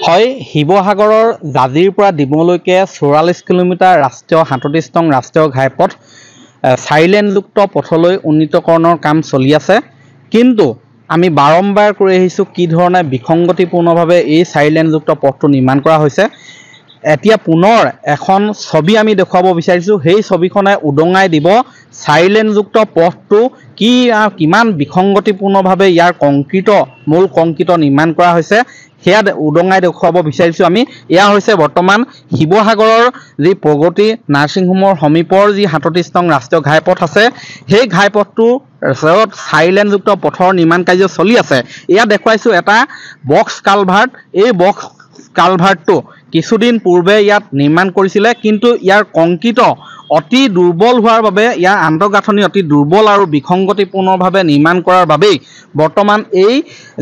হয়, শিৱসাগৰৰ জাজিৰ পৰা ডিমৌলৈকে 44 কিলোমিটাৰ ৰাষ্ট্ৰীয় 37 নং ৰাষ্ট্ৰীয় ঘাইপথ চাৰিলেনযুক্ত পথলৈ উন্নীতকৰণৰ কাম চলি আছে। কিন্তু আমি বাৰম্বাৰ কৈ আহিছোঁ কি ধৰণে বিসংগতিপূৰ্ণভাৱে এই চাৰিলেনযুক্ত পথটো নিৰ্মাণ কৰা হৈছে। এতিয়া পুনৰ এখন ছবি আমি দেখুৱাব বিচাৰিছোঁ, সেই ছবিখনে উদঙাই দিব চাৰিলেনযুক্ত পথটো কি কিমান বিসংগতিপূৰ্ণভাৱে ইয়াৰ কংক্ৰিট মূল কংক্ৰিট নিৰ্মাণ কৰা হৈছে, সেয়া উদঙাই দেখুৱাব বিচাৰিছোঁ আমি। এয়া হৈছে বৰ্তমান শিৱসাগৰৰ যি প্ৰগতি নাৰ্ছিং হোমৰ সমীপৰ যি 37 নং ৰাষ্ট্ৰীয় ঘাইপথ আছে, সেই ঘাইপথটো চাৰিলেনযুক্ত পথৰ নিৰ্মাণ কাৰ্য চলি আছে। এয়া দেখুৱাইছোঁ এটা বক্স কালভাৰ্ট। এই বক্স কালভাৰ্টটো কিছুদিন পূৰ্বে ইয়াত নিৰ্মাণ কৰিছিলে, কিন্তু ইয়াৰ কংক্ৰিট অতি দুৰ্বল হোৱাৰ বাবে, ইয়াৰ আন্তঃগাঁথনি অতি দুৰ্বল আৰু বিসংগতিপূৰ্ণভাৱে নিৰ্মাণ কৰাৰ বাবেই বৰ্তমান এই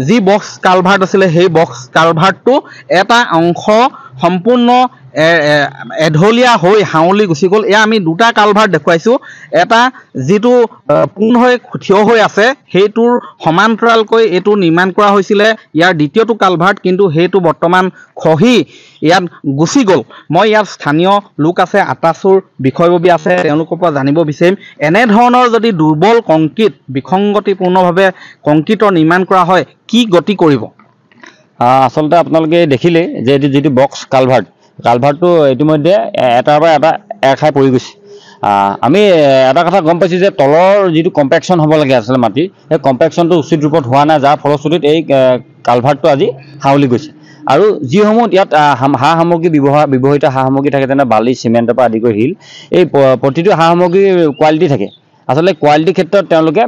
যি বক্স কালভাৰ্ট আছিলে, সেই বক্স কালভাৰ্টটো এটা অংশ সম্পূৰ্ণ এঢলীয়া হৈ হাউলি গুচি গ'ল। এয়া আমি দুটা কালভাৰ্ট দেখুৱাইছোঁ, এটা যিটো পোন হৈ থিয় হৈ আছে সেইটোৰ সমান্তৰালকৈ এইটো নিৰ্মাণ কৰা হৈছিলে ইয়াৰ দ্বিতীয়টো কালভাৰ্ট, কিন্তু সেইটো বৰ্তমান খহি ইয়াত গুচি গ'ল। মই ইয়াত স্থানীয় লোক আছে, আটাচুৰ বিষয়ববীয়া আছে, তেওঁলোকৰ পৰা জানিব বিচাৰিম এনেধৰণৰ যদি দুৰ্বল কংক্ৰিট বিসংগতিপূৰ্ণভাৱে কংক্ৰিটৰ নিৰ্মাণ কৰা হয় কি গতি কৰিব। আচলতে আপোনালোকে দেখিলেই যে এইটো যিটো বক্স কালভাৰ্ট, কালভাৰ্টটো ইতিমধ্যে এটাৰ পৰা এটা এৰ খাই পৰি গৈছে। আমি এটা কথা গম পাইছোঁ যে তলৰ যিটো কম্পেকশ্যন হ'ব লাগে আচলতে মাটিৰ, সেই কম্পেকশ্যনটো উচিত ৰূপত হোৱা নাই, যাৰ ফলশ্ৰুতিত এই কালভাৰ্টটো আজি হাউলি গৈছে। আৰু যিসমূহ ইয়াত সা সামগ্ৰী ব্যৱহৃত সা সামগ্ৰী থাকে, যেনে বালি, চিমেণ্টৰ পৰা আদি কৰি শিল, এই প্ৰতিটো সা সামগ্ৰীৰ কোৱালিটি থাকে। আচলতে কোৱালিটিৰ ক্ষেত্ৰত তেওঁলোকে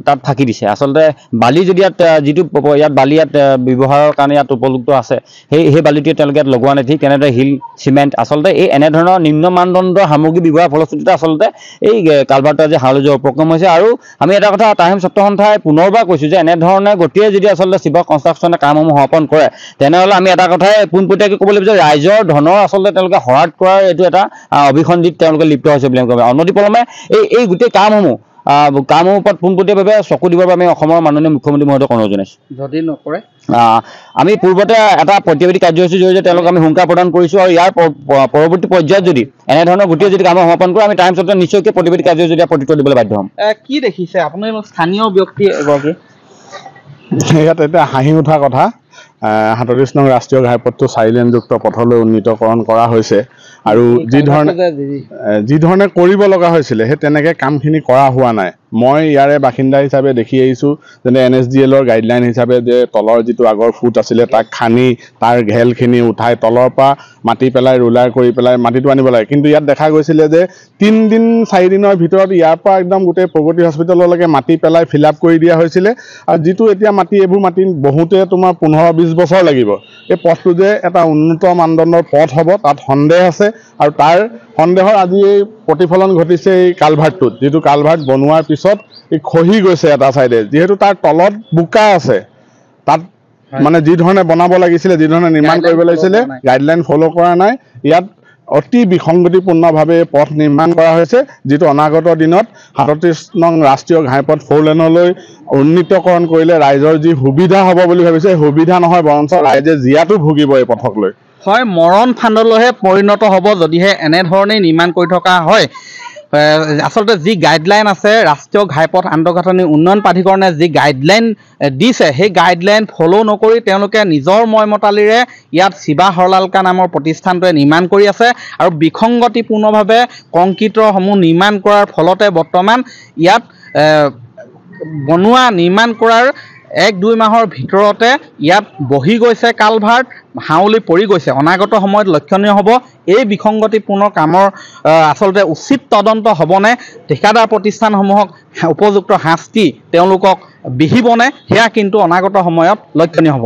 তাত ফাঁকি দিছে। আচলতে বালি যদি ইয়াত যিটো ইয়াত বালি ইয়াত ব্যৱহাৰৰ কাৰণে ইয়াত উপযুক্ত আছে, সেই বালিটোৱে তেওঁলোকে ইয়াত লগোৱা নাই। ঠিক তেনেদৰে শিল, চিমেণ্ট, আচলতে এই এনেধৰণৰ নিম্ন মানদণ্ডৰ সামগ্ৰী ব্যৱহাৰৰ ফলশ্ৰুতিতে আচলতে এই কালভাৰ্টটো আজি হাউলি যোৱাৰ উপক্ৰম হৈছে। আৰু আমি এটা কথা টাইম ছাত্ৰ সন্থাই পুনৰবাৰ কৈছোঁ যে এনেধৰণে গতিয়ে যদি আচলতে শিৱ কনষ্ট্ৰাকশ্যনে কামসমূহ সমাপন কৰে, তেনেহ'লে আমি এটা কথাই পোনপটীয়াকৈ ক'ব লাগিব যে ৰাইজৰ ধনৰ আচলতে তেওঁলোকে শৰাধ কৰাৰ এইটো এটা অভিসন্ধিত তেওঁলোকে লিপ্ত হৈছে বুলি আমি ক'ব। অনতিপলমে এই গোটেই কামসমূহ ওপৰত পোনপটীয়াভাৱে চকু দিবৰ বাবে আমি অসমৰ মাননীয় মুখ্যমন্ত্ৰী মহোদয়ক অনুৰোধ জনাইছোঁ। যদি নকৰে আমি পূৰ্বতে এটা প্ৰতিবাদী কাৰ্যসূচীৰ জৰিয়তে তেওঁলোকক আমি হুংকাৰ প্ৰদান কৰিছোঁ আৰু ইয়াৰ পৰৱৰ্তী পৰ্যায়ত যদি এনেধৰণৰ গোটেই যদি কাম সমাপন কৰে, আমি টাইমছতে নিশ্চয়কৈ প্ৰতিবাদী কাৰ্যসূচী প্ৰত্যুত্তৰ দিবলৈ বাধ্য হ'ম। কি দেখিছে আপুনি স্থানীয় ব্যক্তি এগৰাকী? ইয়াত এতিয়া হাঁহি উঠা কথা, 37 নং ৰাষ্ট্ৰীয় ঘাইপথটো চাৰিলেনযুক্ত পথলৈ উন্নীতকৰণ কৰা হৈছে আৰু যি ধৰণে কৰিব লগা হৈছিলে সেই তেনেকৈ কামখিনি কৰা হোৱা নাই। মই ইয়াৰে বাসিন্দা হিচাপে দেখি আহিছোঁ, যেনে এন এছ ডি এলৰ গাইডলাইন হিচাপে যে তলৰ যিটো আগৰ ফুট আছিলে তাক খান্দি তাৰ ঘেলখিনি উঠাই তলৰ পৰা মাটি পেলাই ৰোলাৰ কৰি পেলাই মাটিটো আনিব লাগে। কিন্তু ইয়াত দেখা গৈছিলে যে 3 দিন 4 দিনৰ ভিতৰত ইয়াৰ পৰা একদম গোটেই প্ৰগতি হস্পিটেললৈকে মাটি পেলাই ফিল আপ কৰি দিয়া হৈছিলে। আৰু যিটো এতিয়া মাটি, এইবোৰ মাটি বহুতে তোমাৰ 15-20 বছৰ লাগিব। এই পথটো যে এটা উন্নত মানদণ্ডৰ পথ হ'ব তাত সন্দেহ আছে আৰু তাৰ সন্দেহৰ আজি এই প্ৰতিফলন ঘটিছে এই কালভাৰ্টটোত, যিটো কালভাৰ্ট বনোৱাৰ পিছত এই খহি গৈছে এটা চাইডে, যিহেতু তাৰ তলত বোকা আছে। তাত মানে যি ধৰণে বনাব লাগিছিলে, যি ধৰণে নিৰ্মাণ কৰিব লাগিছিলে, গাইডলাইন ফ'ল' কৰা নাই। ইয়াত অতি বিসংগতিপূৰ্ণভাৱে পথ নিৰ্মাণ কৰা হৈছে, যিটো অনাগত দিনত 37 নং ৰাষ্ট্ৰীয় ঘাইপথ ফ'ৰ লেনলৈ উন্নীতকৰণ কৰিলে ৰাইজৰ যি সুবিধা হ'ব বুলি ভাবিছে, সুবিধা নহয়, বৰঞ্চ ৰাইজে জীয়াতো ভুগিব এই পথক লৈ। হয়, মৰণ ফান্দলৈহে পৰিণত হ'ব যদিহে এনেধৰণেই নিৰ্মাণ কৰি থকা হয়। আচলতে যি গাইডলাইন আছে, ৰাষ্ট্ৰীয় ঘাইপথ আন্তঃগাঁথনি উন্নয়ন প্ৰাধিকৰণে যি গাইডলাইন দিছে, সেই গাইডলাইন ফ'ল' নকৰি তেওঁলোকে নিজৰ ময়মতালিৰে ইয়াত শিৱা হৰলালকা নামৰ প্ৰতিষ্ঠানটোৱে নিৰ্মাণ কৰি আছে আৰু বিসংগতিপূৰ্ণভাৱে কংক্ৰিটৰসমূহ নিৰ্মাণ কৰাৰ ফলতে বৰ্তমান ইয়াত বনোৱা নিৰ্মাণ কৰাৰ 1-2 মাহৰ ভিতৰতে ইয়াত বহি গৈছে কালভাৰ্ট, হাউলি পৰি গৈছে। অনাগত সময়ত লক্ষণীয় হ'ব এই বিসংগতিপূৰ্ণ কামৰ আচলতে উচিত তদন্ত হ'বনে, ঠিকাদাৰ প্ৰতিষ্ঠানসমূহক উপযুক্ত শাস্তি তেওঁলোকক বিহিবনে, সেয়া কিন্তু অনাগত সময়ত লক্ষণীয় হ'ব।